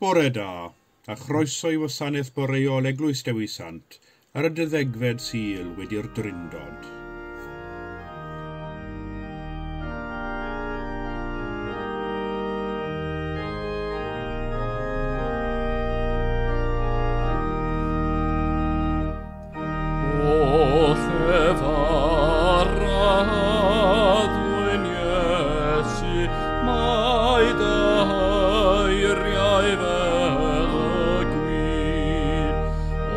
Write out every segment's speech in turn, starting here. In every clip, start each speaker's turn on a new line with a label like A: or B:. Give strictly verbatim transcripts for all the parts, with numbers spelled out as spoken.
A: Bore da, a chroeso i wasanaeth boreol Eglwys Dewi Sant ar y deuddegfed Sul wedi'r Drindod.
B: O llefar addwyn Iesu, mae dy eiriau fel y gwin,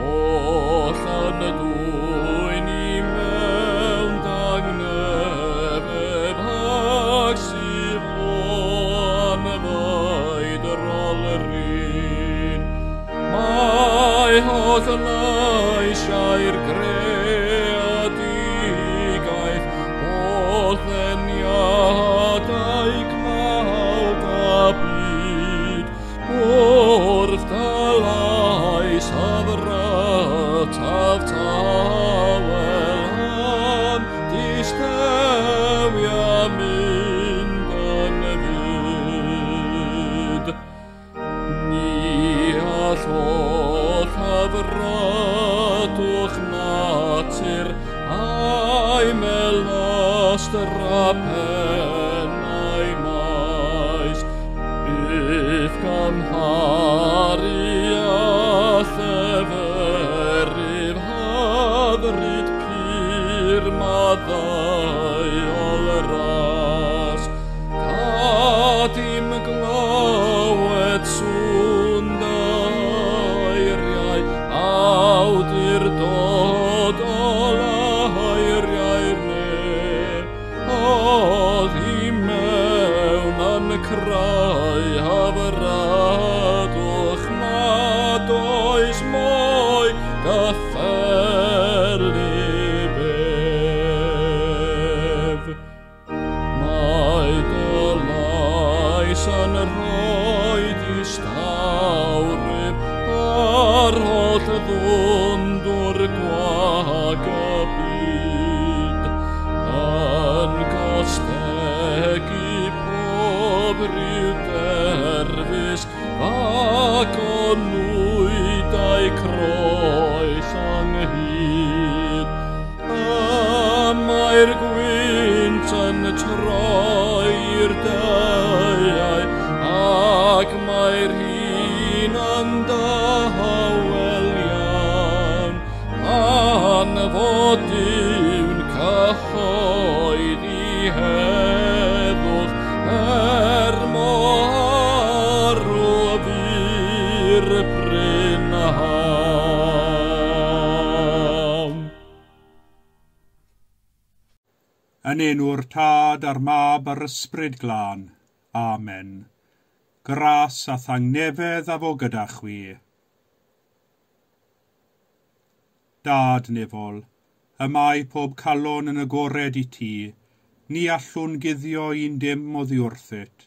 B: oll yn dwyn i mewn dangnefedd ag sydd o'n faedrol rin. Mae holl leisiau'r greadigaeth, holl ddeniadau cnawd a byd, wrth dy lais hyfrytaf tawel yn distewi a mynd yn fud. Ni all holl hyfrydwch natur a'i melystra pennau maes, byth gymharu â lleferydd hyfryd pur maddeuol ras. Gad i'm glywed sŵn dy eiriau, awdurdodol eiriau'r nef, oddi mewn yn creu hyfrydwch nad oes mwy gyffelyb ef. Mae dy lais yn rhoi distawrwydd ar holl ddwndwr gwag y byd, yn gostegu pob rhyw derfysg ac o nwydau croes ynghyd. Y mae'r gwynt yn troi'r daeau, ac mae'r hin yn dawel iawn, pan fod Duw'n cyhoeddi heddwch, er mor arw fu'r prynhawn.
A: Yn enw'r Tad a'r Mab a'r Ysbryd Glân. Amen. Gras a thangnefedd a fo gyda chwi. Dad nefol, y mae pob calon yn agored i ti, ni allwn guddio un dim oddi wrthyt.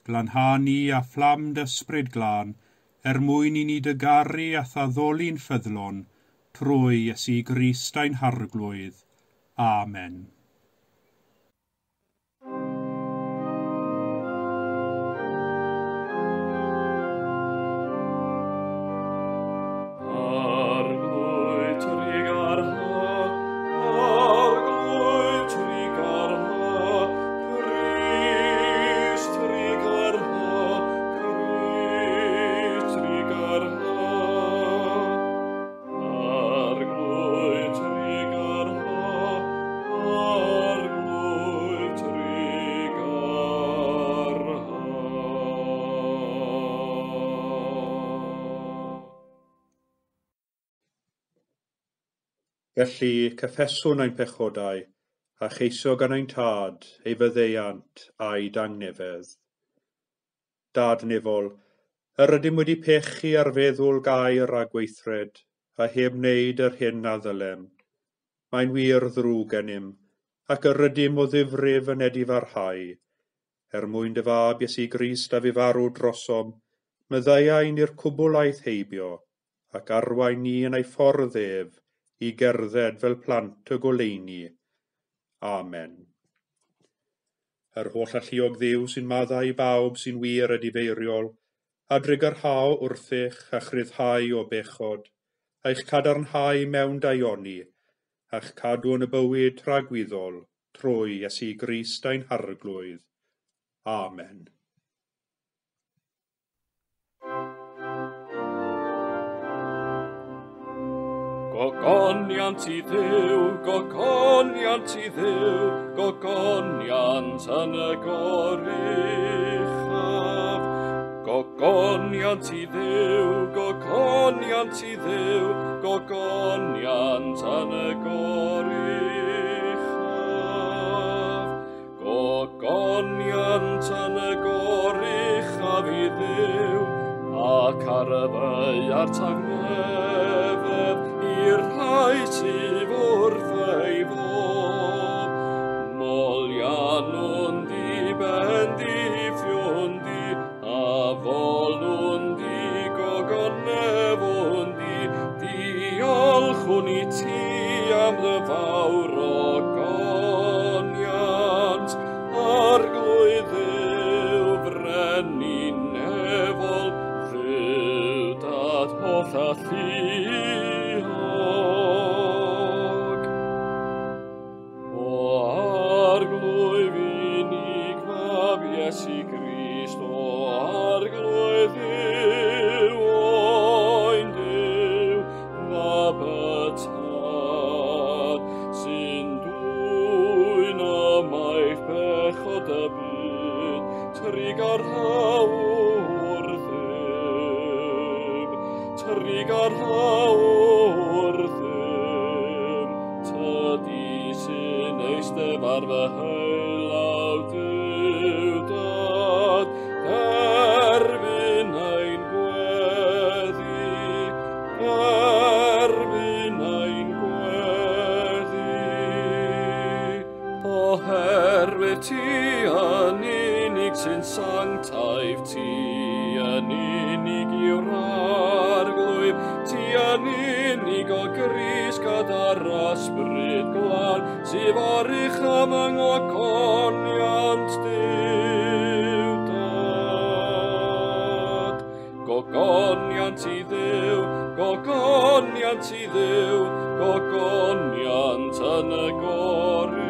A: Glanha ni a fflam dy Ysbryd Glân, er mwyn i ni dy garu a thaddoli'n ffyddlon, trwy Iesu Grist ein Harglwydd. Amen.
B: Arglwydd trugarha, Arglwydd trugarha, Crist trugarha, Crist trugarha. Arglwydd trugarha, Arglwydd trugarha.
A: Felly, cyffeswn ein pechodau, a cheisio gan ein Tad ei faddeuant a'i dangnefedd. Dad nefol, yr ydym wedi pechu ar feddwl gair a gweithred, a heb wneud yr hyn a ddylem. Mae'n wir ddrwg gennym, ac yr ydym o ddifrif yn edifarhau. Er mwyn dy fab Iesu Grist a fu farw drosom, maddeuai ni'r cwbl aeth heibio, ac arwain ni yn ei ffordd ef i gerdded fel plant y goleuni. Amen. Yr holl alluog Dduw sy'n maddau i bawb sy'n wir edifeiriol, A drugarhau wrthych a'ch rhyddhau o bechod, a'ch cadarnhau mewn daioni, a'ch cadw yn y bywyd tragwyddol trwy Iesu Grist ein Harglwydd. Amen.
B: Gogoniant i Dduw, gogoniant i Dduw, gogoniant yn y goruchaf. Gogoniant i Dduw, gogoniant i Dduw, gogoniant yn y goruchaf. Gogoniant yn y goruchaf i Dduw, ac ar y ddaear tangnefedd i'r rhai sydd wrth ei fodd. Moliannwn di, bendithiwn di, a folwn di, gogonefwn di, diolchwn i ti am dy fawr ogoniant. Arglwydd Dduw, frenin nefol, Dduw dad holl alluog. O Arglwydd unig Mab Iesu Grist, o Arglwydd Dduw, oen Duw, Mab y Tad, sy'n dwyn ymaith bechod y byd, trugarhau wrthym, trugarhau wrthym, tydi sy'n eistedd ar fy heilaw Duw Dad, derbyn ein gweddi, derbyn ein gweddi. Oherwydd ti yn unig sy'n sanctaidd, ti yn unig yw'r Arglwydd, ti yn unig o Grist gyda'r Ysbryd Glân, sydd oruchaf yng ngogoniant Duw Dad. Gogoniant i Dduw, gogoniant i Dduw, gogoniant yn y goruchaf.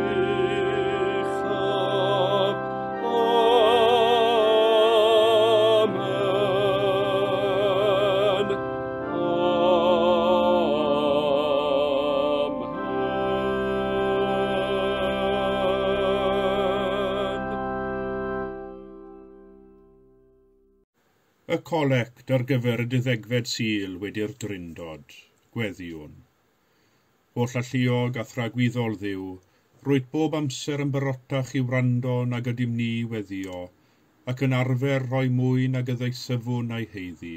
B: Amen. Amen.
A: Y colect ar gyfer y deuddegfed Sul wedi'r Drindod, gweddiwn. Holl alluog a thragwyddol Dduw, rwyt bob amser yn barotach i wrando nag ydym ni weddio, ac yn arfer rhoi mwy nag y ddeisyfwn a'i heiddi.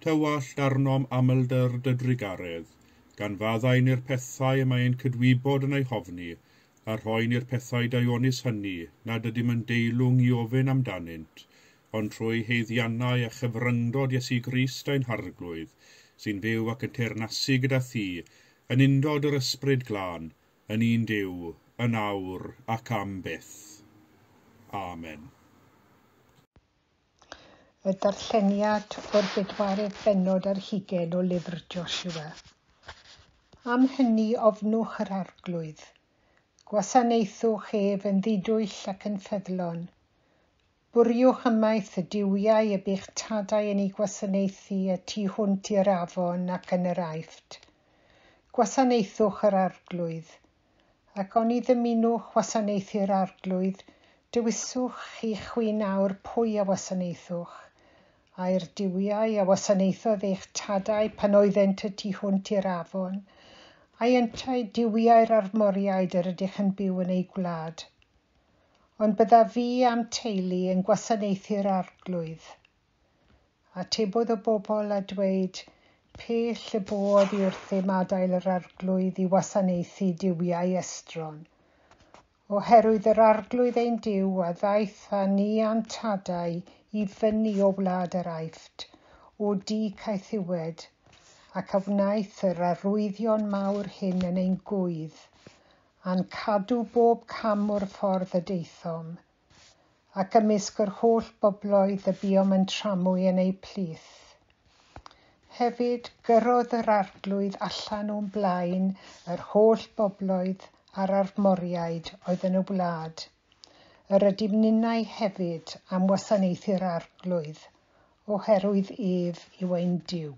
A: Tywallt arnom amlder dy drugaredd, gan faddau ni'r pethau y mae ein cydwybod yn eu hofni, a rhoi ni'r pethau daionus hynny nad ydym yn deilwng i ofyn amdanynt, ond trwy haeddiannau a chyfryngdod Iesu Grist ein Harglwydd, sy'n fyw ac yn teyrnasu gyda thi, yn undod yr Ysbryd Glân, yn un Duw, yn awr ac am byth. Amen.
C: Y darlleniad o'r bedwaredd bennod ar hugain o lyfr Joshua. Am hynny ofnwch yr Arglwydd. Gwasanaethwch ef yn ddidwyll ac yn ffyddlon. Bwriwch ymaith y duwiau y bu'ch tadau yn eu gwasanaethu y tu hwnt i'r afon ac yn yr Aifft. Gwasanaethwch yr Arglwydd, ac oni ddymunwch wasanaethu'r Arglwydd, dewiswch chi chwi nawr pwy a wasanaethwch, ai'r duwiau a wasanaethodd eich tadau pan oeddent y tu hwnt i'r afon, ai yntau duwiau'r Armoriaid yr ydych yn byw yn eu gwlad. Ond byddaf fi a'm teulu yn gwasanaethu'r Arglwydd. Atebodd y bobl a dweud, pell y bo oddi wrthym adael yr Arglwydd i wasanaethu duwiau estron. Oherwydd yr Arglwydd ein Duw a ddaeth â ni a'n tadau i fyny o wlad yr Aifft, o dŷ caethiwed, ac a wnaeth yr arwyddion mawr hyn yn ein gwydd, a'n cadw bob cam o'r ffordd y daethom. ac ymysg yr holl bobloedd y buom yn tramwy yn eu plith. Hefyd, gyrrodd yr Arglwydd allan o'n blaen yr holl bobloedd a'r Amoriaid oedd yn y wlad. Yr ydym ninnau hefyd am wasanaethu'r Arglwydd, oherwydd ef yw ein Duw.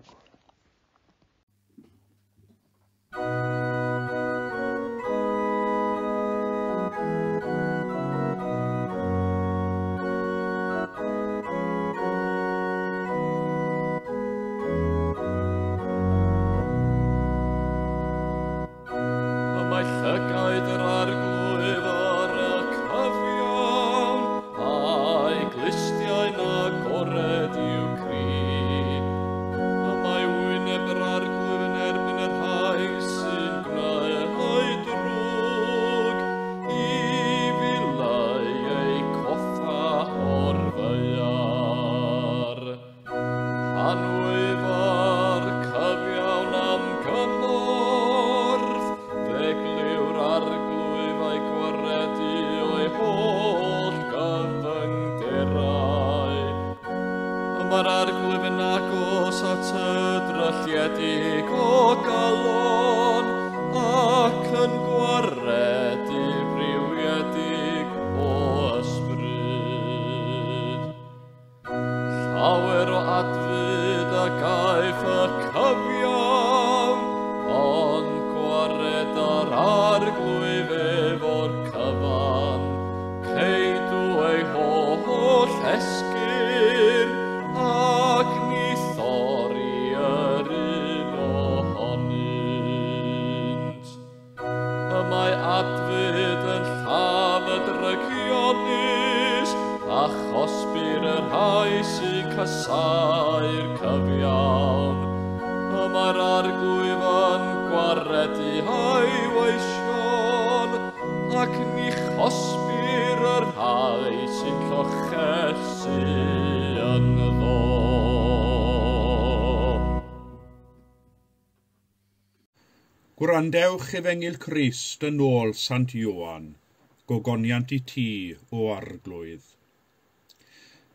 B: Mae llygaid yr Arglwydd ar y cyfiawn, a'i glustiau'n agored i'w cri. Y mae wyneb yr Arglwydd yn erbyn y rhai sy'n gwneud drwg, i ddileu eu coffa o'r ddaear. Pan wyf ar cyfiawn am gymorth, fe glyw'r Arglwydd a'i gwaredu o'i holl gyfyngderau. Y mae'r Arglwydd yn agos at y drylliedig o galon, ac yn gwaredu briwiedig o ysbryd. Llawer o adfyd a gaiff y cyfiawn, ond gwared ar Arglwydd efo'r cyfan. Ceidw ei holl esgyrn, ac ni thorri yr un ohonynt. Y mae adfyd yn lladd y drygionus, a chosbir y rhai sy'n casáu'r cyfiawn. Y mae'r Arglwydd yn gwaredu ei weision, ac ni chosbir y rhai sy'n llochesu ynddo.
A: Gwrandewch Efengyl Crist yn ôl Sant Ioan, gogoniant i ti, o Arglwydd.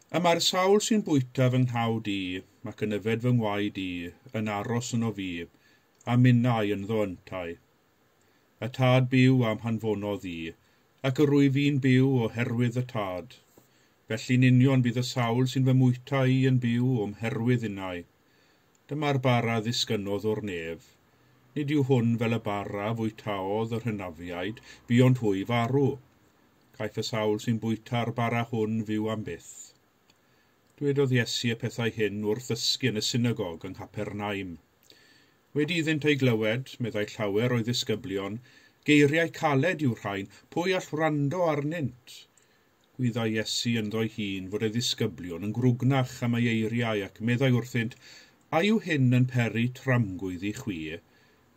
A: Y mae'r sawl sy'n bwyta fy nghnawd i, ac yn yfed fy ngwaed i, yn aros yno fi, a minnau ynddo yntau. Y Tad byw am hanfonodd i, ac yr wyf fi'n byw oherwydd y Tad. Felly'n union bydd y sawl sy'n fy mwyta i yn byw o'm herwydd innau. Dyma'r bara ddisgynnodd o'r nef. Nid yw hwn fel y bara fwytaodd yr hynafiaid, buont hwy farw. Caiff y sawl sy'n bwyta'r bara hwn fyw am byth. Dwedodd Iesu y pethau hyn wrth ddysgu yn y synagog yng Nghapernaum. Wedi iddynt ei glywed, meddai llawer o'i ddisgyblion, geiriau caled yw'r rhain, pwy all wrando arnynt? Gwyddai Iesu ynddo'i hun fod ei ddisgyblion yn grwgnach am ei eiriau ac meddai wrthynt, a yw hyn yn peri tramgwydd i chwi?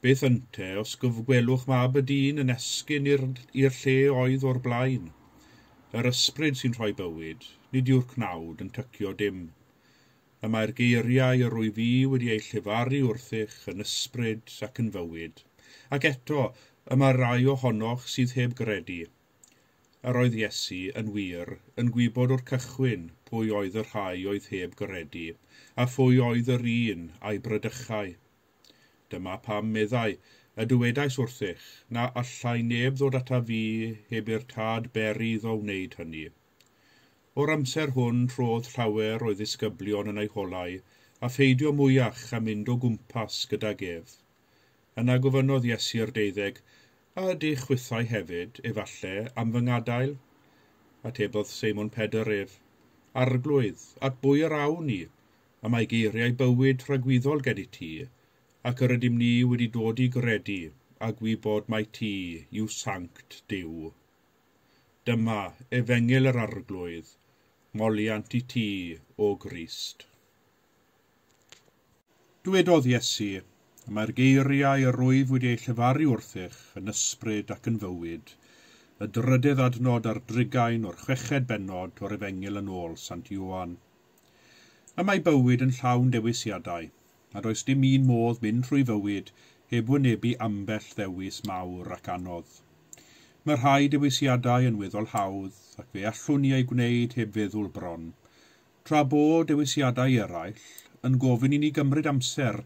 A: Beth ynte os gyfgwelwch mab y dyn yn esgyn i'r lle oedd o'r blaen? Yr ysbryd sy'n rhoi bywyd, nid yw'r cnawd yn tycio dim. Y mae'r geiriau yr wyf fi wedi eu llefaru wrthych yn ysbryd ac yn fywyd. Ac eto, y mae rai ohonoch sydd heb gredu. Yr oedd Iesu yn wir yn gwybod o'r cychwyn pwy oedd y rhai oedd heb gredu, a phwy oedd yr un a'i brydychai. Dyma pam meddai, y dywedais wrthych, na allai neb ddod ata fi heb i'r Tad beri iddo wneud hynny. O'r amser hwn trodd llawer o'i ddisgyblion yn ei holau, a pheidio mwyach a mynd o gwmpas gydag ef. Yna gofynnodd Iesu'r deuddeg, a ydych chwithau hefyd, efalle, am fy ngadael? Atebodd Seimon Pedr ef, Arglwydd, at bwy yr awn ni? A mae geiriau bywyd tragwyddol gen i ti, ac yr ydym ni wedi dod i gredu a gwybod mai ti yw sanct Duw. Dyma Efengyl yr Arglwydd, moliant i ti, o Grist. Dwedodd Iesu, mae'r geiriau yr wyf wedi eu llefaru wrthych yn ysbryd ac yn fywyd, y drydedd adnod ar drigain o'r chweched bennod o'r Efengyl yn ôl Sant Ioan. Y mae bywyd yn llawn dewisiadau, a does dim un modd mynd trwy fywyd heb wynebu ambell ddewis mawr ac anodd. Mae rhai dewisiadau yn weddol hawdd ac fe allwn ni eu gwneud heb feddwl bron, tra bo dewisiadau eraill yn gofyn i ni gymryd amser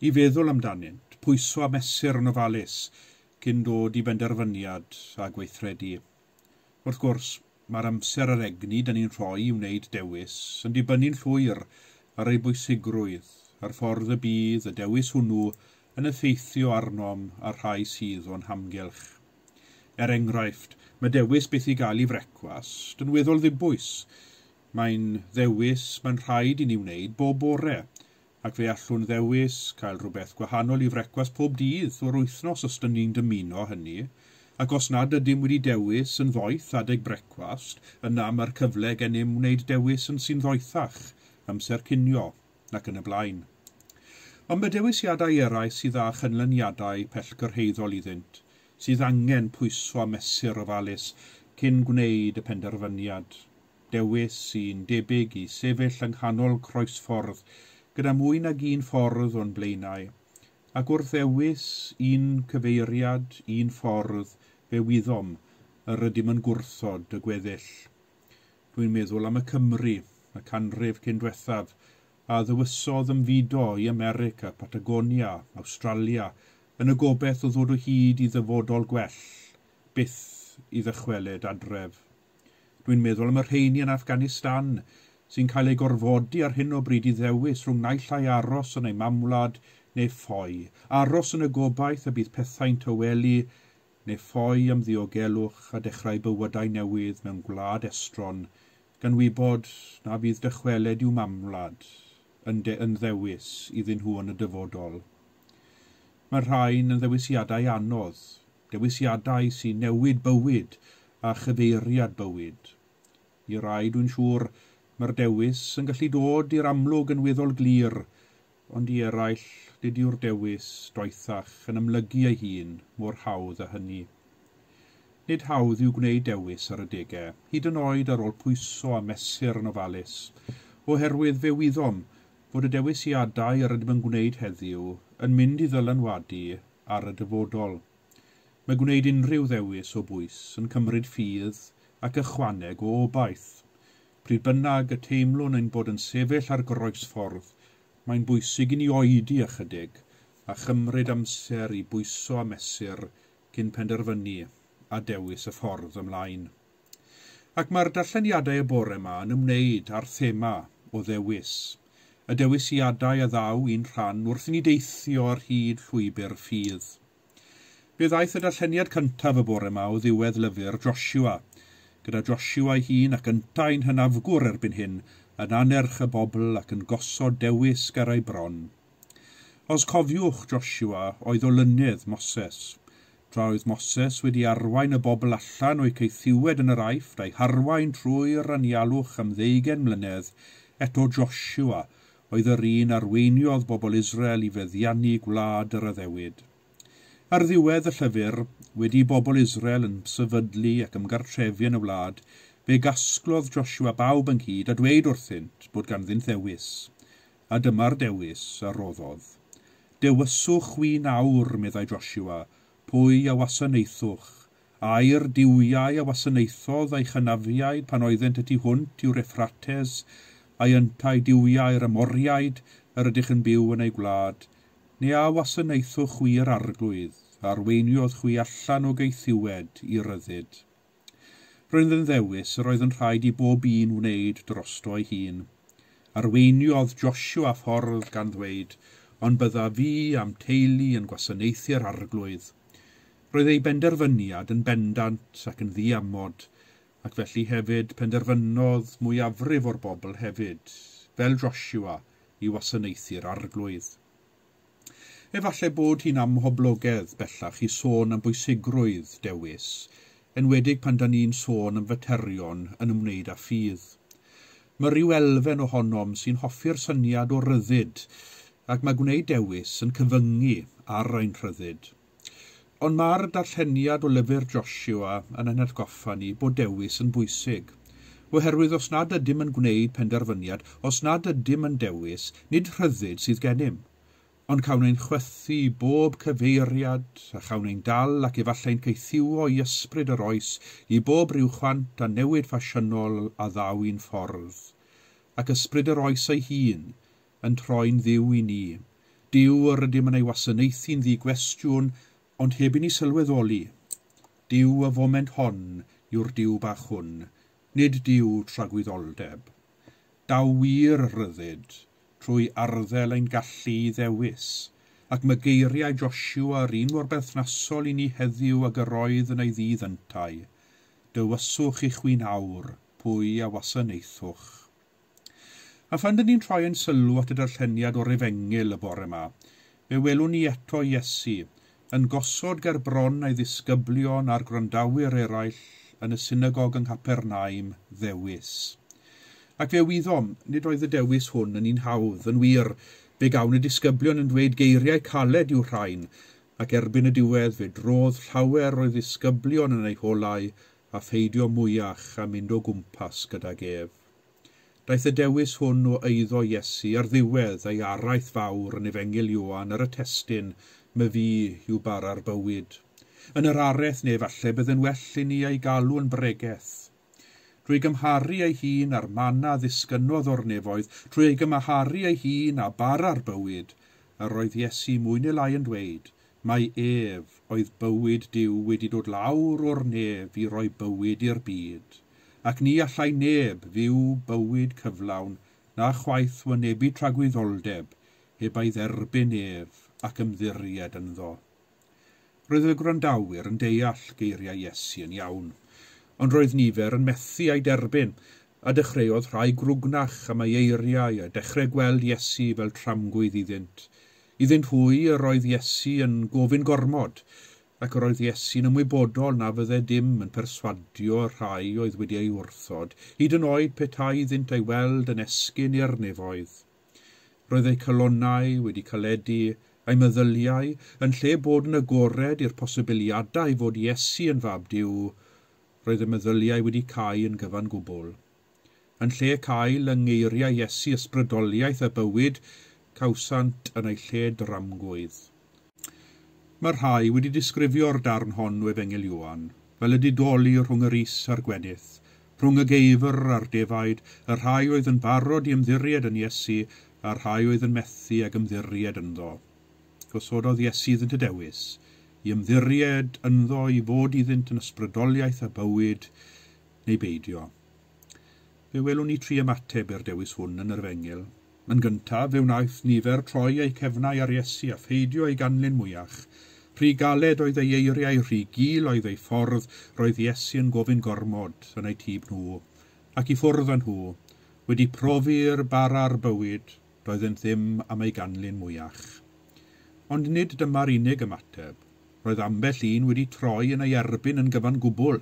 A: i feddwl amdanynt, pwyso a mesur yn ofalus cyn dod i benderfyniad a gweithredu. Wrth gwrs, mae'r amser a'r egni dan ni'n rhoi i wneud dewis yn dibynnu'n llwyr ar ei bwysigrwydd a'r ffordd y bydd y dewis hwnnw yn effeithio arnom a'r rhai sydd o'n hamgylch. Er enghraifft, mae dewis beth i gael i frecwast yn weddol ddibwys. Mae'n ddewis mae'n rhaid i ni wneud bob bore, ac fe allwn ddewis cael rhywbeth gwahanol i frecwast pob dydd o'r wythnos os dyn ni'n dymuno hynny, ac os nad ydym wedi dewis yn ddoeth adeg brecwast, yna mae'r cyfle gennym wneud dewis yn sy'n ddoethach, amser cinio, ac yn y blaen. Ond mae dewisiadau eraill sydd â chynlyniadau pellgyrhaeddol iddynt, sydd angen pwyso a mesur ofalus cyn gwneud y penderfyniad. Dewis sy'n debyg i sefyll yng nghanol croesffordd gyda mwy nag un ffordd o'n blaenau, ac wrth ddewis un cyfeiriad, un ffordd, fe wyddom yr ydym yn gwrthod y gweddill. Dwi'n meddwl am y Cymry, y canrif cyn diwethaf, a ddewisodd ymfudo i America, Patagonia, Awstralia, yn y gobaith o ddod o hyd i ddyfodol gwell, byth i ddychwelyd adref. Dwi'n meddwl am y rheini yn Afghanistan sy'n cael eu gorfodi ar hyn o bryd i ddewis rhwng naill ai aros yn eu mamwlad neu ffoi, aros yn y gobaith y bydd pethau'n tawelu neu ffoi am ddiogelwch a dechrau bywydau newydd mewn gwlad estron, gan wybod na fydd dychwelyd i'w mamwlad yn, de yn ddewis iddyn nhw yn y dyfodol. Mae'r rhain yn ddewisiadau anodd, dewisiadau sy'n newid bywyd a chyfeiriad bywyd. I rai, dwi'n siŵr, mae'r dewis yn gallu dod i'r amlwg yn weddol glir, ond i eraill, nid yw'r dewis doethach yn ymlygu ei hun mor hawdd â hynny. Nid hawdd yw gwneud dewis ar adegau, hyd yn oed ar ôl pwyso a mesur yn ofalus, oherwydd fe wyddom fod y dewisiadau yr ydym yn gwneud heddiw yn mynd i ddylanwadu ar y dyfodol. Mae gwneud unrhyw ddewis o bwys yn cymryd ffydd ac ychwaneg o obaith. Pryd bynnag y teimlwn ein bod yn sefyll ar groesffordd, mae'n bwysig i ni oedi ychydig a chymryd amser i bwyso a mesur cyn penderfynu a dewis y ffordd ymlaen. Ac mae'r darlleniadau y bore yma yn ymwneud â'r thema o ddewis, y dewisiadau a ddaw i'n rhan wrth i ni deithio ar hyd llwybr ffydd. Fe ddaeth y darlleniad cyntaf y bore yma o ddiwedd lyfr Joshua, gyda Joshua ei hun ac yntau'n hynafgwr erbyn hyn, yn anerch y bobl ac yn gosod dewis ger ei bron. Os cofiwch, Joshua oedd olynydd Moses. Tra oedd Moses wedi arwain y bobl allan o'i caethiwed yn yr Aifft a'i harwain trwy'r anialwch am ddeugain mlynedd, eto Joshua oedd yr un arweiniodd bobl Israel i feddiannu gwlad yr addewid. Ar ddiwedd y llyfr, wedi bobl Israel yn sefydlu ac ymgartrefu yn y wlad, fe gasglodd Joshua bawb ynghyd a dweud wrthynt bod ganddynt ddewis, a dyma'r dewis a roddodd. Dewiswch chwi nawr, meddai Joshua, pwy a wasanaethwch, ai'r duwiau a wasanaethodd a'i chynafiaid pan oeddent y tu hwnt i'w Euphrates, a'i yntau duwiau'r Amoriaid yr ydych yn byw yn eu gwlad, neu a wasanaethwch chwi yr Arglwydd, a arweiniodd chwi allan o gaethiwed i ryddid. Roedd yn ddewis yr oedd yn rhaid i bob un wneud drosto ei hun. Arweiniodd Joshua ffordd gan ddweud, ond bydda fi a'm teulu yn gwasanaethu'r Arglwydd. Roedd ei benderfyniad yn bendant ac yn ddiamod, ac felly hefyd penderfynodd mwyafrif o'r bobl hefyd, fel Joshua, i wasanaethu'r Arglwydd. Efallai bod hi'n amhoblogedd bellach i sôn am bwysigrwydd dewis, enwedig pan dan ni'n sôn am faterion yn ymwneud â ffydd. Mae rhyw elfen ohonom sy'n hoffi'r syniad o ryddid, ac mae gwneud dewis yn cyfyngu ar ein rhyddid. Ond mae'r darlleniad o lyfr Joshua yn ein hatgoffa ni bod dewis yn bwysig, oherwydd os nad ydym yn gwneud penderfyniad, os nad ydym yn dewis, nid rhyddid sydd gennym, Ond cawn ein chwythu bob cyfeiriad, a chawn ein dal ac efallai'n caethiwo i ysbryd yr oes i bob rhyw chwant a newid ffasiynol a ddaw i'n ffordd. Ac ysbryd yr oes ei hun yn troi'n ddiw i ni. Duw yr ydym yn ei wasanaethu'n ddigwestiwn, ond heb i ni sylweddoli. Duw y foment hon yw'r Duw bach hwn, nid Duw tragwyddoldeb. Daw wir ryddid trwy arddel ein gallu i ddewis, ac mae geiriau Joshua yr un mor berthnasol i ni heddiw ag yr oedd yn ei ddydd yntau. Dywyswch i chwi'n awr pwy a wasanaethwch. A phan dyn ni'n troi ein sylw at y darlleniad o'r Efengyl y bore yma, fe welwn ni eto Iesu yn gosod ger bron ei ddisgyblion a'r gwrandawyr eraill yn y synagog yng Nghapernaum ddewis. Ac fe wyddom, nid oedd y dewis hwn yn un hawdd, yn wir, fe gawn y disgyblion yn dweud geiriau caled i'w rhain, ac erbyn y diwedd fe drodd llawer o'i ddisgyblion yn eu holau a pheidio mwyach a mynd o gwmpas gydag ef. Daeth y dewis hwn o eiddo Iesu ar ddiwedd ei araith fawr yn Efengyl Ioan ar y testun "My fi yw bara'r bywyd". Yn yr araith neu falle bydd yn well i ni ei galw yn bregeth. Trwy gymharu ei hun â'r manna ddisgynnodd o'r nefoedd, trwy ei gymharu ei hun â bara'r bywyd, yr oedd Iesu mwy neu lai yn dweud, mai ef oedd bywyd Duw wedi dod lawr o'r nef i roi bywyd i'r byd, ac ni allai neb fyw bywyd cyflawn na chwaith wynebu tragwyddoldeb heb ei dderbyn ef ac ymddiried ynddo. Roedd y gwrandawyr yn deall geiriau Iesu yn iawn, ond roedd nifer yn methu ei derbyn, a dechreuodd rhai grwgnach am ei eiriau a dechrau gweld Iesu fel tramgwydd iddynt. Iddynt hwy yr oedd Iesu yn gofyn gormod, ac yr oedd Iesu'n ymwybodol na fydde dim yn perswadio rhai oedd wedi ei wrthod, hyd yn oed petai iddynt ei weld yn esgyn i'r nefoedd. Roedd eu calonnau wedi caledu, eu meddyliau, yn lle bod yn agored i'r posibiliadau fod Iesu yn fab Duw, roedd y meddyliau wedi cau yn gyfan gwbl. Yn lle cael yng ngeiriau Iesu ysbrydoliaeth a bywyd, cawsant yn ei lle dramgwydd. Mae rhai wedi disgrifio'r darn hon o Efengyl Ioan, fel y didoli rhwng yr is a'r gwenith, rhwng y geifr a'r defaid, y rhai oedd yn barod i ymddiried yn Iesu a'r rhai oedd yn methu ag ymddiried ynddo. Gosododd Iesu iddynt y dewis, i ymddiried ynddo i fod iddynt yn ysbrydoliaeth a bywyd neu beidio. Fe welwn ni tri ymateb i'r dewis hwn yn yr Efengyl. Yn gyntaf, fe wnaeth nifer troi eu cefnau ar Iesu a pheidio ei ganlyn mwyach. Rhy galed oedd ei eiriau, rhy gul oedd ei ffordd, roedd Iesu yn gofyn gormod yn eu tyb nhw, ac i ffwrdd â nhw, wedi profi'r bara'r bywyd, doeddent ddim am ei ganlyn mwyach. Ond nid dyma'r unig ymateb. Roedd ambell un wedi troi yn ei erbyn yn gyfan gwbl,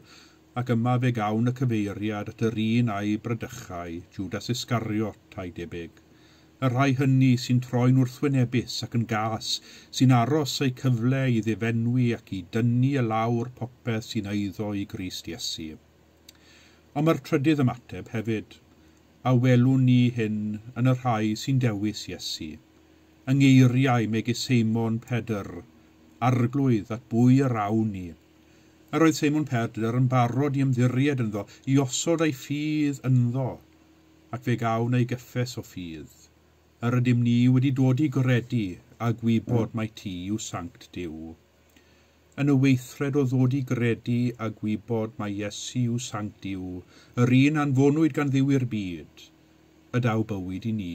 A: ac yma fe gawn y cyfeiriad at yr un a'i bradychai, Judas Iscariot a'i debyg. Y rhai hynny sy'n troi'n wrthwynebus ac yn gas, sy'n aros eu cyfle i ddifenwi ac i dynnu y lawr popeth sy'n eiddo i Grist Iesu. Ond mae'r trydydd ymateb hefyd, a welwn ni hyn yn y rhai sy'n dewis Iesu. Yng ngeiriau megis Seimon Pedr, Arglwydd at bwy yr awn ni. Yr oedd Seimon Pedr yn barod i ymddiried ynddo, i osod ei ffydd ynddo, ac fe gawn ei gyffes o ffydd. Yr ydym ni wedi dod i gredu a gwybod mai ti yw Sanct Duw. Yn y weithred o ddod i gredu a gwybod mai Iesu yw Sanct Duw, yr un anfonwyd gan Dduw i'r byd, y daw bywyd i ni,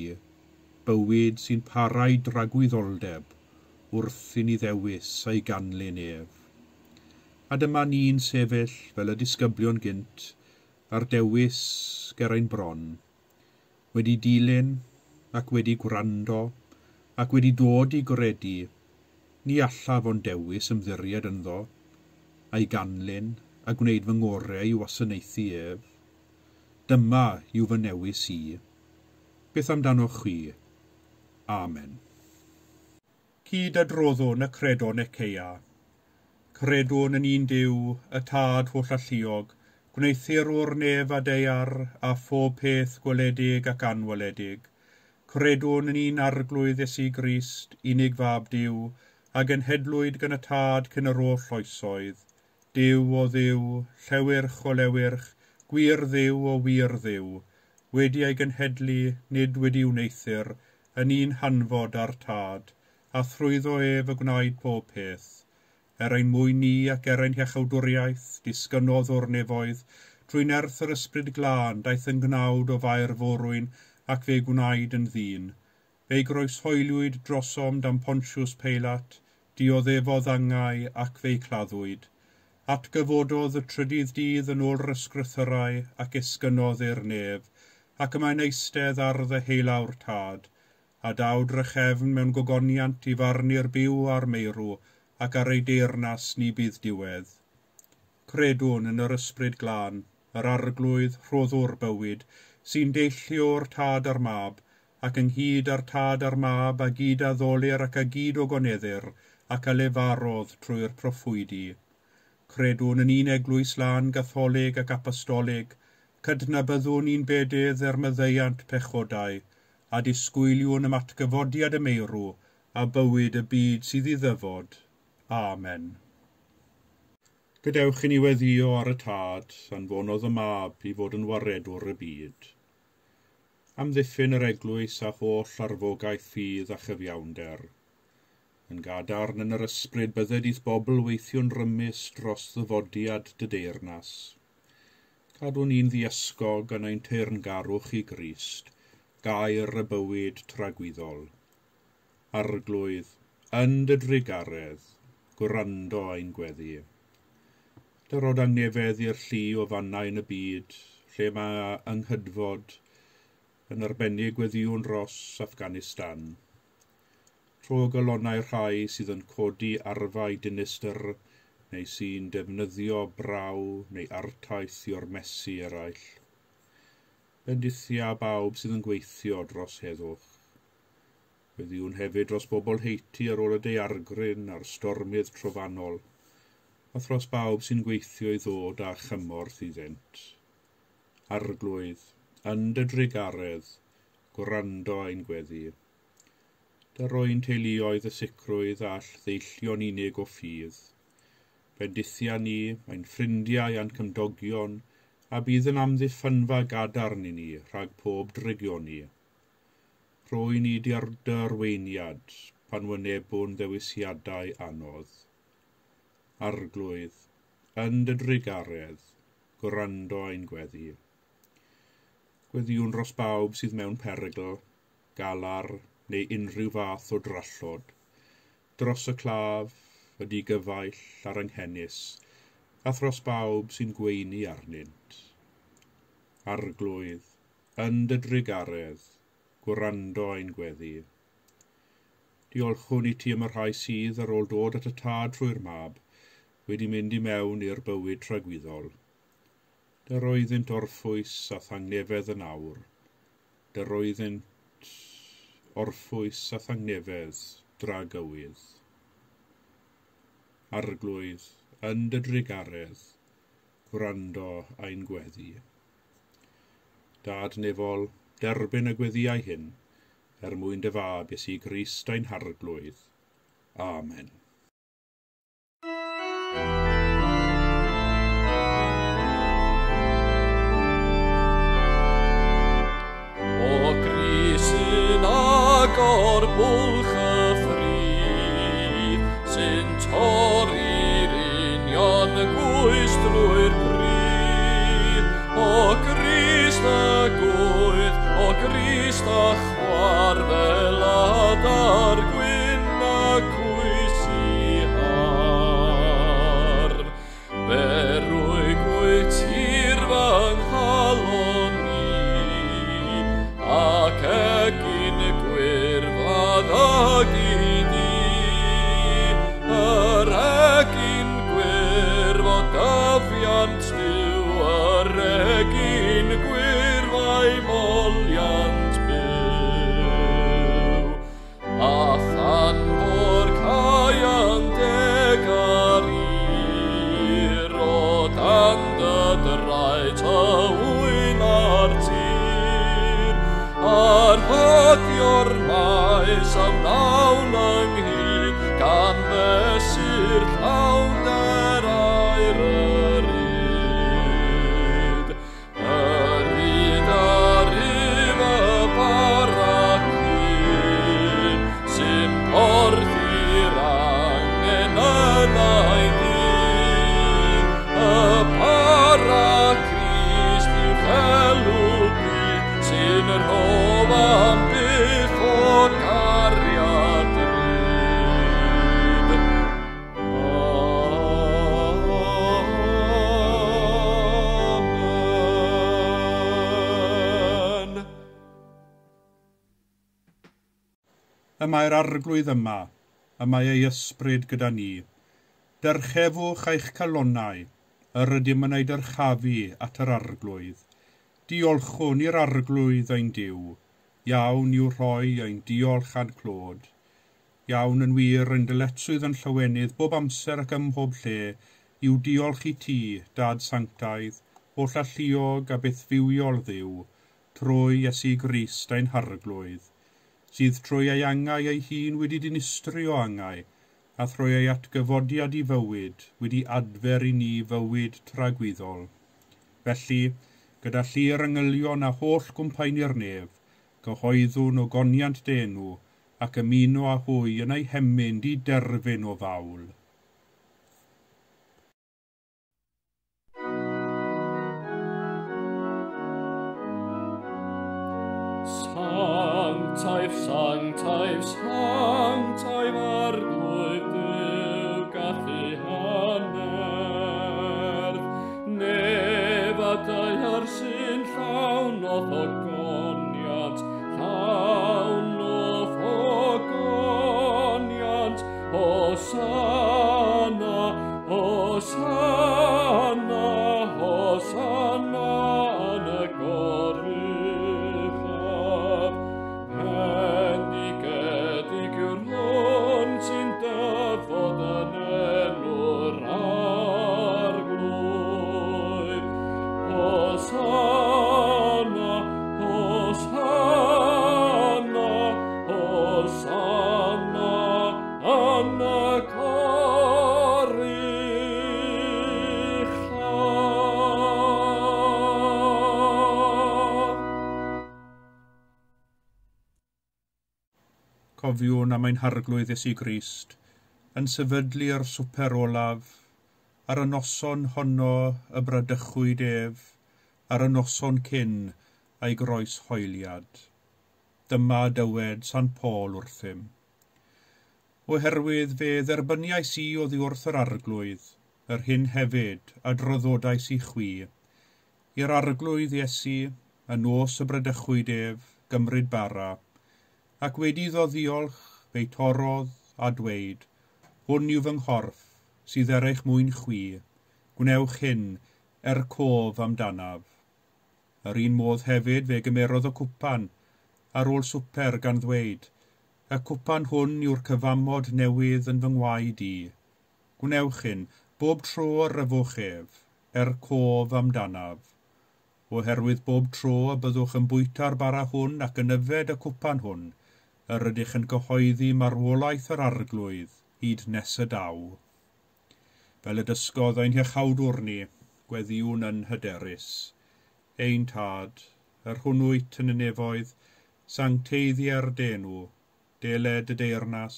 A: bywyd sy'n parau dragwyddoldeb, wrth i ni ddewis a'i ganlyn ef. A dyma ni'n sefyll fel y disgyblion gynt, a'r dewis ger ein bron, wedi dilyn ac wedi gwrando, ac wedi dod i gredu, ni allaf ond dewis ymddiried ynddo, a'i ganlyn a gwneud fy ngorau i wasanaethu ef. Dyma yw fy newis i. Beth amdanoch chwi? Amen. Cyd adroddwn y Credo Nicaea. Credwn yn un Duw, y Tad hollalluog, gwneuthurwr nef a daear, a phob peth gweledig ac anweledig. Credwn yn un Arglwydd Iesu Grist, unig fab Duw, a genhedlwyd gan y Tad cyn yr holl oesoedd. Duw o Dduw, llewyrch o lewyrch, gwir Dduw o wir Dduw, wedi ei genhedlu, nid wedi wneuthur, yn un hanfod â'r Tad, a thrwyddo ef y gwnaed pob peth. Er ein mwyn ni ac er ein hiachawdwriaeth, disgynnodd o'r nefoedd, trwy nerth yr Ysbryd Glân daeth yn gnawd o Fair Forwyn ac fe gwnaed yn ddyn. Fe'i groeshoeliwyd drosom dan Pontius Peilat, dioddefodd angau ac fe'i claddwyd. Atgyfododd y trydydd dydd yn ôl yr ysgrythyrau ac esgynnodd i'r nef, ac y mae'n eistedd ar ddeheulaw'r Tad, a daw drachefn mewn gogoniant i farnu'r byw a'r meirw, ac ar ei deyrnas ni bydd diwedd. Credwn yn yr Ysbryd Glân, yr Arglwydd rhoddwr bywyd, sy'n deillio o'r Tad a'r Mab, ac ynghyd â'r Tad a'r Mab a gyd a ddolir ac a gyd o goneddir, ac a lefarodd trwy'r proffwydi. Credwn yn un eglwys lân gatholig ac apostolig, cydnabyddwn un bedydd er maddeuant pechodau, a disgwyliwn am atgyfodiad y meirw, a bywyd y byd sydd i ddyfod. Amen. Gadewch i ni weddïo ar y Tad, anfonodd y Mab i fod yn waredwr y byd. Amddiffyn yr eglwys a holl arfogaeth ffydd a chyfiawnder. Yn gadarn yn yr ysbryd bydded i'th bobl weithio'n rymus dros ddyfodiad dy deyrnas. Cadwn ni'n ddiysgog yn ein teyrngarwch i Grist, gair y bywyd tragwyddol. Arglwydd, yn dy drugaredd, gwrando ein gweddi. Dyrod angnefedd i'r llu o fannau yn y byd, lle mae anghydfod, yn arbennig weddïwn dros Afghanistan. Tro galonnau'r rhai sydd yn codi arfau dinistr, neu sy'n defnyddio braw neu artaith i ormesu eraill. Bendithia bawb sydd yn gweithio dros heddwch. Weddïwn hefyd dros bobl Haiti ar ôl y daeargryn a'r stormydd trofannol, a thros bawb sy'n gweithio i ddod â chymorth iddynt. Arglwydd, yn dy drugaredd, gwrando ein gweddi. Dyro'n teuluoedd y sicrwydd all ddeillio'n unig o ffydd. Bendithia ni, ein ffrindiau a'n cymdogion, a bydd yn amddiffynfa gadarn i ni rhag pob drygioni. Rhoi ni dy arweiniad pan wynebwn ddewisiadau anodd. Arglwydd, yn dy drugaredd, gwrando ein gweddi. Gweddïwn dros bawb sydd mewn perygl, galar neu unrhyw fath o drallod, dros y claf, y digyfaill a'r anghenus, a thros bawb sy'n gweini arnynt. Arglwydd, yn dy drugaredd, gwrando ein gweddi. Diolchwn i ti am y rhai sydd ar ôl dod at y Tad trwy'r Mab, wedi mynd i mewn i'r bywyd tragwyddol. Dyroeddynt orffwys a thangnefedd yn awr. Dyroeddynt orffwys a thangnefedd dragywydd. Arglwydd, yn dy drugaredd, gwrando ein gweddi. Dad nefol, derbyn y gweddïau hyn, er mwyn dy fab Iesu Grist ein Harglwydd. Amen.
B: O Grist sy'n agor bwlch y ffridd, sy'n torri'r union gwys drwy'r pridd. O Grist y gwydd, o Grist a chwar fel adar gwyn a cwys i hardd. Berwig wyt tir fy nghalon i, ac egin gwyrdd ag i di. Yr egin gwyrdd o dyfiant Duw, yr egin gwyrdd a'i moliant byw. A radio'r maes a wnawn ynghyd, gan fesur llawnder aur yr yd. Yr yd ar yf y bara cyn, sy'n porthi'r angen yn ei dyn. Y bara Crist yw chelw byd, sy'n rhof am byth o gariad ryd. Amen.
A: Y mae'r Arglwydd yma, y mae ei ysbryd gyda ni. Dyrchefwch eich calonnau, yr ydym yn ei dyrchafu at yr Arglwydd. Diolchwn i'r Arglwydd ein Duw, iawn i'w rhoi ein diolch a'n clod. Iawn yn wir ein dyletswydd yn llawenydd bob amser ac ym mhob lle, i'w diolch i ti, Dad Sanctaidd, holl alluog a bythfywiol Dduw, trwy Iesu Grist ein Harglwydd, sydd trwy ei angau ei hun wedi dinistrio angau, a thrwy ei atgyfodiad i fywyd wedi adfer i ni fywyd tragwyddol. Felly, gyda llu'r angylion a holl gwmpaeni'r nef, cyhoeddwn o goniant denw ac ymuno â hwy yn ei hemyn di derfyn o fawl.
B: Sanctaidd, sanctaidd, sanctaidd Arglwydd Duw gallu hannerth. Nef a daear sy'n llawn o'th ogoniant, llawn o'th ogoniant. Hosanna, Hosanna, Hosanna yn y goruchaf. Bendigedig yw'r hwn sy'n dyfod yn enw'r Arglwydd. Hosanna, Hosanna, Hosanna yn y goruchaf.
A: Cofiwn am ein Harglwydd Iesu Grist, yn sefydlu'r swper olaf, ar y noson honno y bradychwyd ef, ar y noson cyn a'i groes hoeliad. Dyma dywed Sant Paul wrthym. Oherwydd fe dderbyniais i oddi wrth yr Arglwydd, yr hyn hefyd a draddodais i chwi. I'r Arglwydd Iesu, y nos y bradychwyd ef, gymryd bara, ac wedi iddo ddiolch, fe'i torrodd a dweud, hwn yw fy nghorff, sydd er eich mwyn chwi, gwnewch hyn er cof amdanaf. Yr un modd hefyd fe gymerodd y cwpan, ar ôl swper gan ddweud, y cwpan hwn yw'r cyfamod newydd yn fy ngwaed i. Gwnewch hyn, bob tro yr yfwch ef, er cof amdanaf. Oherwydd bob tro y byddwch yn bwyta'r bara hwn ac yn yfed y cwpan hwn, yr ydych yn cyhoeddi marwolaeth yr Arglwydd hyd nes y daw. Fel y dysgodd ein hiachawdwr ni, gweddïwn yn hyderus. Ein Tad, yr hwn wyt yn y nefoedd, sancteiddier d'enw, deled y deyrnas,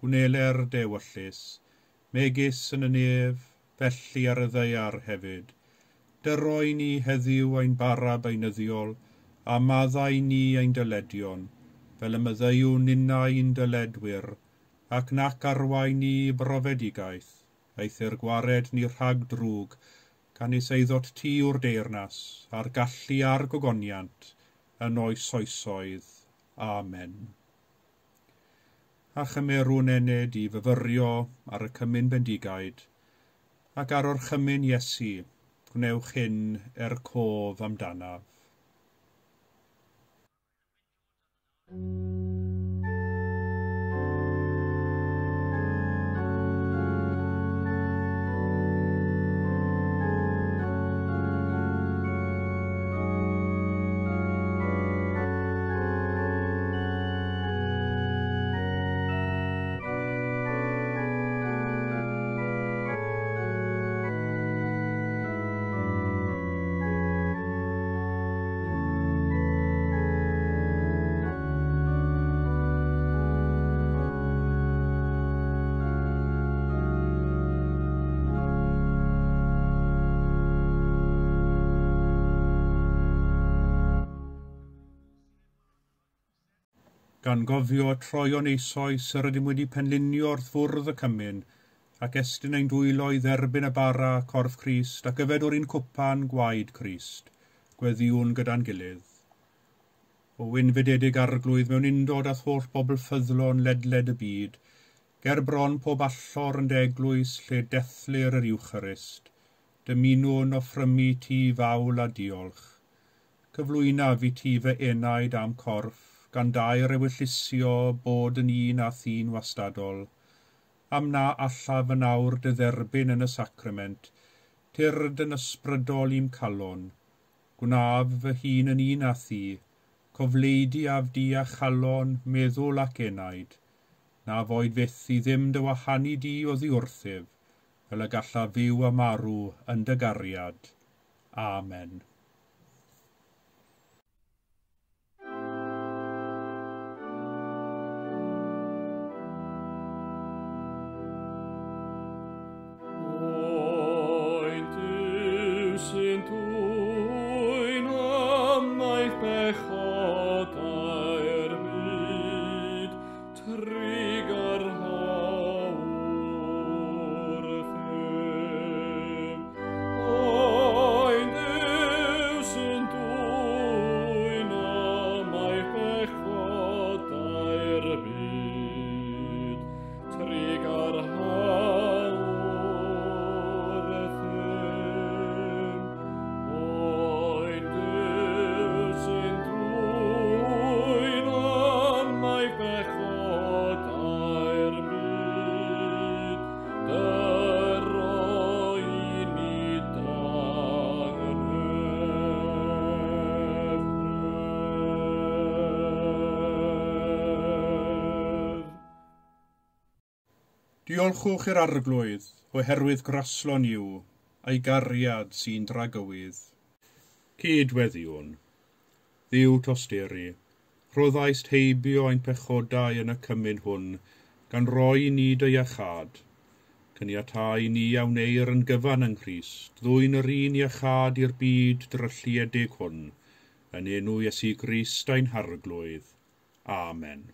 A: gwneler dewyllys, megis yn y nef, felly ar y ddaear hefyd. Dyroi ni heddiw ein bara beunyddiol, a maddau ni ein dyledion, fel y maddeuwn ninnau ein dyledwyr, ac nac arwain ni brofedigaeth, eithr gwared ni rhag drwg, canys eiddot ti yw'r deyrnas, a'r gallu a'r gogoniant, yn oes oesoedd. Amen. A chymerwn ened i fyfyrio ar y cymun bendigaid, ac ar orchymyn Iesu, gwnewch hyn er cof amdanaf. Gan gofio troion eisoes yr ydym wedi penlinio wrth fwrdd y cymun, ac estyn ein dwylo i dderbyn y bara corff Crist ac yfed o'r un cwpan gwaed Crist, gweddïwn gyda'n gilydd. O wynfydedig Arglwydd mewn undod â'th holl bobl ffyddlon ledled y byd, ger bron pob allor yn dy eglwys lle dethlir yr Iwcharist, dymunwn offrymu ti fawl a diolch. Cyflwynaf i ti fy enaid a'm corff, gan dair ewyllusio bod yn un a thîn wastadol, am na allaf yn awr dy dderbyn yn y sacrament, tyrd yn ysbrydol i'm calon, gwnaf fy hun yn un â thi, cofleidi af di a chalon, meddwl ac enaid, na foed fyth i ddim dy wahanu di oddi wrthyf, fel y gallaf fyw a marw yn dy gariad. Amen. Diolchwch i'r Arglwydd, oherwydd graslon yw, a'i gariad sy'n dragywydd. Cydweddiwn. Dduw tosturi, rhoddaist heibio ein pechodau yn y cymun hwn, gan roi i ni dy iachâd. Caniatâi ni a wneir yn gyfan yng Nghrist, ddwyn yr un iachâd i'r byd drylliedig hwn, yn enw Iesu Grist ein Harglwydd. Amen.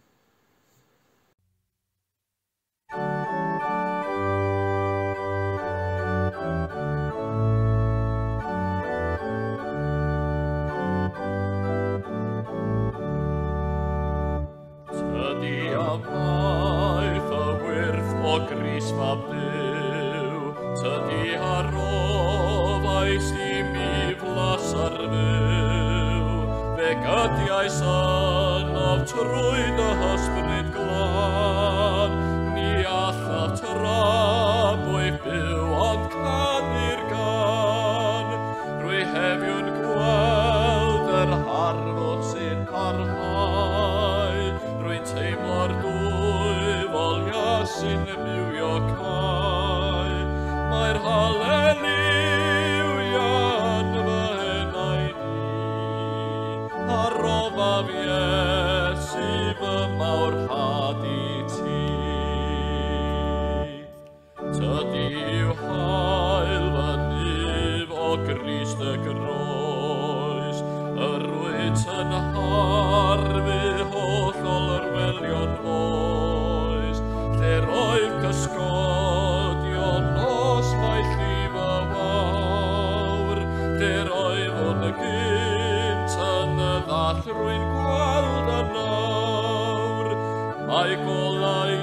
B: Maeth y wyrth o Grist mab Duw, tydi a rofaist i mi flas ar fyw. Fe gydiais ynof trwy dy hysbryd glân, ni allaf tramwy byw ond canu'r gan. Rwy heddiw'n gweld yr harddwch sy'n parhau, rwy'n teimlo'r dwyfol sy'n bywio cae. Mae'r haleliwia yn fy enaid i, a rofaf Iesu fy mawrhad i ti. Tydi yw haul fy nyf o Grist y groes, yr wyt yn harfu holl olrwelion oes, lle roedd cysgodion nos mae llif y fawr, lle roeddwn gynt yn y ddall rwy'n gweld yn awr. Mae golau i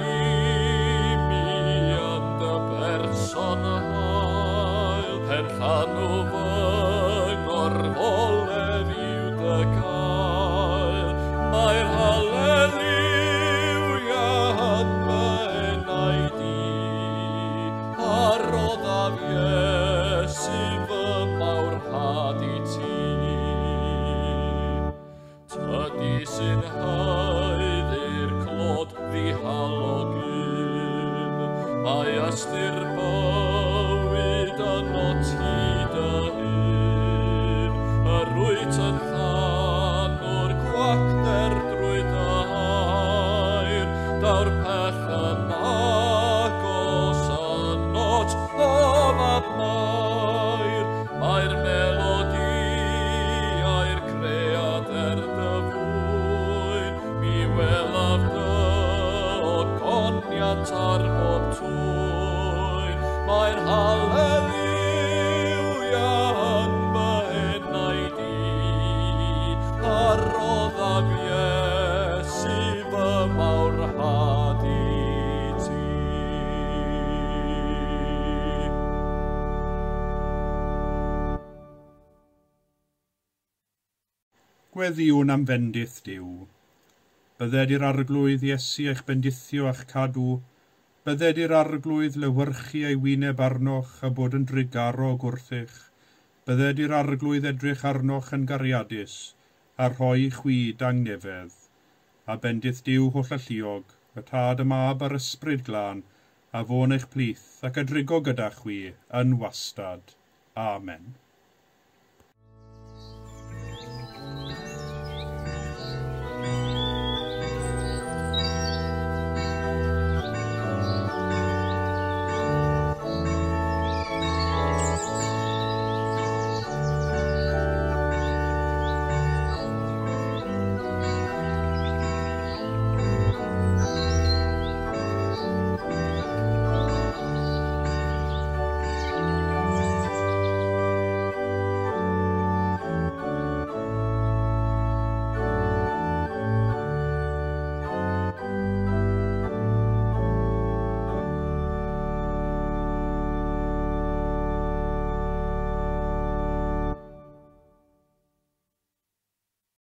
B: mi yn dy berson hael, penllanw fy ngorfoledd yw dy gael. Mae'r haleliwia yn fy enaid i, a roddaf Iesu fy mawrhad i ti. Tydi sy'n haeddu'r clod ddihalog un, mae ystyr bywyd ynot ti dy hun. Yr wyt yn llanw'r gwacter drwy dy air, daw'r pell yn agos ynot o fab Mair. Mae'r melodïau'r cread er dy fwyn, mi welaf ogoniant ar bob twyn. Mae'r haleluia yn fy enaid i, a roddaf Iesu fy mawrhad i ti.
A: Gweddïwn am fendith Duw. Bydded i'r Arglwydd Iesu eich bendithio a'ch cadw. Bydded i'r Arglwydd lewyrchu ei wyneb arnoch a bod yn drugarog wrthych. Bydded i'r Arglwydd edrych arnoch yn gariadus a rhoi i chwi dangnefedd. A bendith Duw hollalluog, y Tad, y Mab a'r Ysbryd Glân, a fo'n eich plith ac a drigo gyda chwi yn wastad. Amen.